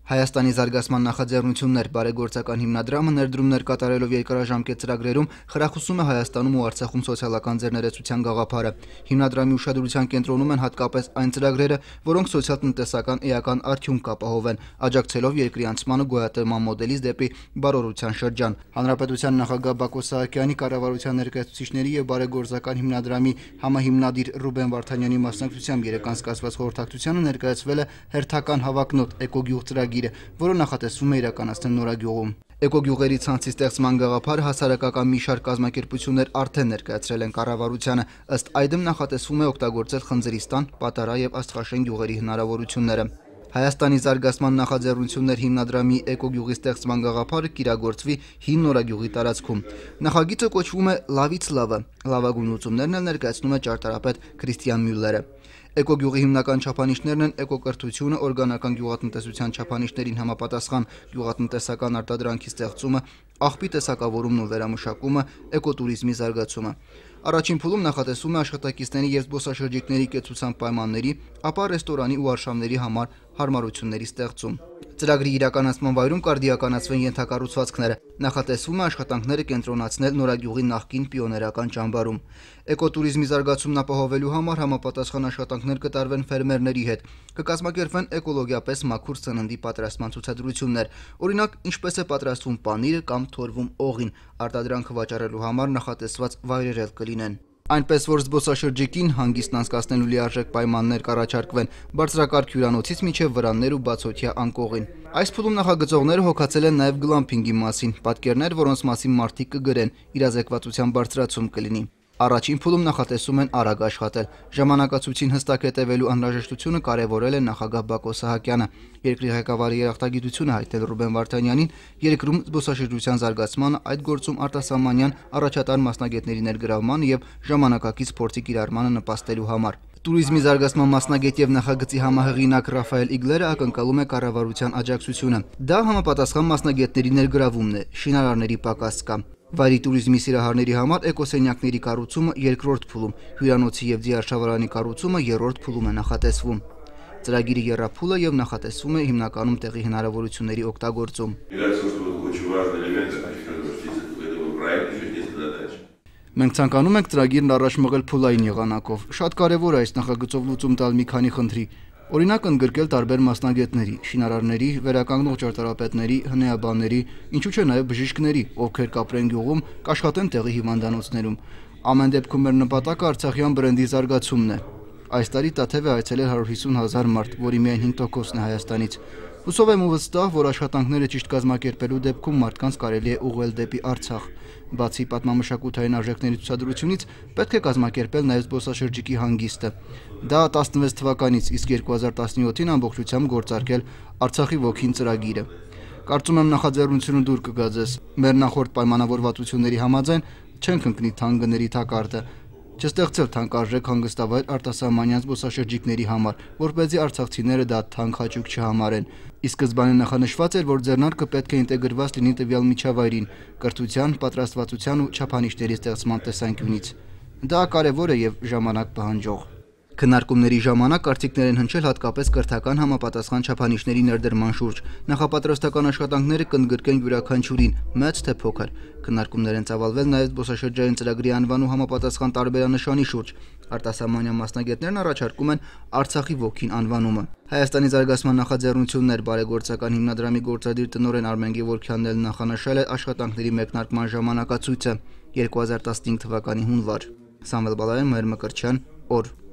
Հայաստանի զարգացման նախաձեռնություններ բարեգործական հիմնադրամը ներդրումներ կատարելով երկարաժամկետ ծրագրերում խրախուսում է Հայաստանում ու Արցախում սոցիալական ձեռներեցության գաղափարը։ Հիմնադրամի ուշադրության կենտրոնում են հատկապես այն ծրագրերը, որոնք սոցիալ-տնտեսական էական արդյունք կապահովեն, աջակցելով երկրի անցմանը գոյատևման մոդելից դեպի բարօրության շրջան։ Հանրապետության նախագահ Բակո Սահակյանի, կառավարության ներկայացուցիչների եւ բարեգործական հիմնադրամի համահիմնադիր Ռուբեն Վարդանյանի մասնակցությամբ երեկ անցկացված խորհրդակցությանը ներկայացվել է հերթական հավակնոտ էկոգյուղ ծրագիրը, որը նախատեսվում է իրականացնել Նորագյուղում։ Էկոգյուղերի ցանցի ստեղծման գաղափարը հասարակական մի շարք կազմակերպություններ արդեն ներկայացրել են կառավարությանը, ըստ այդմ նախատեսվում է օգտագործել Խնձրիստան, Պատարա եւ Աստղաշեն գյուղերի հնարավորությունները։ Հայաստանի զարգացման նախաձեռնություններ հիմնադրամի էկոգյուղի ստեղծման գաղափարը կիրագործվի հին Նորագյուղի տարածքում։ Նախագիծը կոչվում է «Լավից լավը»։ Լավագույն լուծումներն էլ ներկայացնում է ճարտարապետ Քրիստիան Մյուլլերը։ Էկոգյուղի հիմնական չափանիշներն են էկոկրթությունը, օրգանական գյուղատնտեսության չափանիշներին համապատասխան գյուղատնտեսական արտադրանքի ստեղծումը, աղբի տեսակավորումն ու վերամշակումը, էկոտուրիզմի զարգացումը։ Առաջին փուլում նախատեսվում է աշխատակիցների եւ զբոսաշրջիկների կեցության պայմանների, ապա ռեստորանի ու արշավների համար հարմարությունների ստեղծում։ Ծրագրի իրականացման վայրում կարդիականացվեն ենթակառուցվածքները։ Նախատեսվում է աշխատանքները կենտրոնացնել Նորագյուղի նախկին պիոներական ճամբարում։ Էկոտուրիզմի զարգացումն ապահովելու համար համապատասխան աշխատանքներ կտարվեն ֆերմերների հետ։ Կկազմակերպվեն էկոլոգիապես մաքուր սննդի պատրաստման ցուցադրություններ։ Օրինակ, ինչպես է պատրաստվում պանիրը կամ թորվում օղին, արտադրանքը վաճառելու համար նախատեսված վայրեր էլ կլինեն։ Այնպես որ զբոսաշրջիկին հանգիստն անցկացնելու լիարժեք պայմաններ կառաջարկվեն բարձրակարգ հյուրանոցից մինչև վրաններ ու բացօթյա անկողին։ Այս փուլում նախագծողները հոգացել են նաև գլամփինգի մասին, պատկերներ, որոնց մասին մարդիկ կգրեն, իրազեկվածության բարձրացում կլինի։ Առաջին փուլում նախատեսում են արագ աշխատել։ Ժամանակացույցին հստակ հետևելու անհրաժեշտությունը կարևորել է նախագահ Բակո Սահակյանը։ Երկրի ղեկավարի երախտագիտությունը հայտնել Ռուբեն Վարդանյանին երկրում զբոսաշրջության զարգացմանը, այդ գործում արտասահմանյան առաջատար մասնագետների ներգրավմանը եւ ժամանակակից փորձի կիրառմանը նպաստելու համար։ Տուրիզմի զարգացման մասնագետ եւ նախագծի համահեղինակ Ռաֆայել Իգլերը ակնկալում է կառավարության աջակցությունը։ Դա համապատասխան մասնագետների ներգրավումն է, շինարարների պակաս կա։ Վայրի տուրիզմի սիրահարների համար էկոսենյակների կառուցումը երկրորդ փուլում, հյուրանոցի եւ ձիարշավարանի կառուցումը երրորդ փուլում է նախատեսվում։ Ծրագիրի եռափուլը եւ նախատեսվում է հիմնականում տեղի հնարավորությունների օգտագործում։ Մենք ցանկանում ենք ծրագիրն առաջ մղել փուլային եղանակով։ Շատ կարևոր է այս նախագծով լուծում տալ մի քանի խնդրի։ Օրինակ ընդգրկել տարբեր մասնագետների, շինարարների, վերականգնող ճարտարապետների, հնեաբանների, ինչու՞ չէ նաև բժիշկների, ովքեր կապրեն գյուղում, կաշխատեն տեղի հիվանդանոցներում։ Ամեն դեպքում մեր նպատակը Արցախյան բրենդի զարգացումն է։ Այս տարի Տաթև է այցելել 150,000 մարդ, որի միայն 5%-ն է Հայաստանից։ Հուսով եմ ու վստահ, որ աշխատանքները ճիշտ կազմակերպելու դեպքում մարդկանց կարելի է ուղղել դեպի Արցախ։ Բացի պատմամշակութային արժեքների ցուցադրությունից, պետք է կազմակերպել նաև զբոսաշրջիկի հանգիստը։ Դա 16 թվականից, իսկ 2017-ին ամբողջությամբ գործարկել Արցախի ոգին ծրագիրը։ Կարծում եմ նախաձեռնությունը դուր կգա ձեզ։ Մեր նախորդ պայմանավորվածությունների համաձայն չենք ընկնի թանկ գների թակարդը, չստեղծել թանկարժեք հանգստավայր արտասահմանյան զբոսաշրջիկների համար, որպեսզի արցախցիները դա թանկ հաճույք չհամարեն։ Ի սկզբանե նախանշված էր, որ ձեռնարկը պետք է ինտեգրված լինի տվյալ միջավայրին, կրթության, պատրաստվածության ու չափանիշների ստեղծման տեսանկյունից։ Դա կարևոր է եւ ժամանակ պահանջող։ Քննարկումների ժամանակ կարծիքներ են հնչել հատկապես կրթական համապատասխան չափանիշների ներդրման շուրջ։ Նախապատրաստական աշխատանքները կընդգրկեն յուրաքանչյուրին, մեծ թե փոքր։ Քննարկումներ են ծավալվել նաև զբոսաշրջային ծրագրի անվանու համապատասխան տարբերանշանի շուրջ։ Արտասահմանյան մասնագետներն առաջարկում են Արցախի ոգին անվանումը։ Հայաստանի զարգացման նախաձեռնություններ բարեգործական հիմնադրամի գործադիր տնօրեն Արմեն Գևորգյանն էլ նախանշել է աշխատանքների մեկնարկման ժամանակացույցը՝ 2015 թվականի հունվար։ Սամվել Բալայան, Մհեր Մկրտչյան, օր։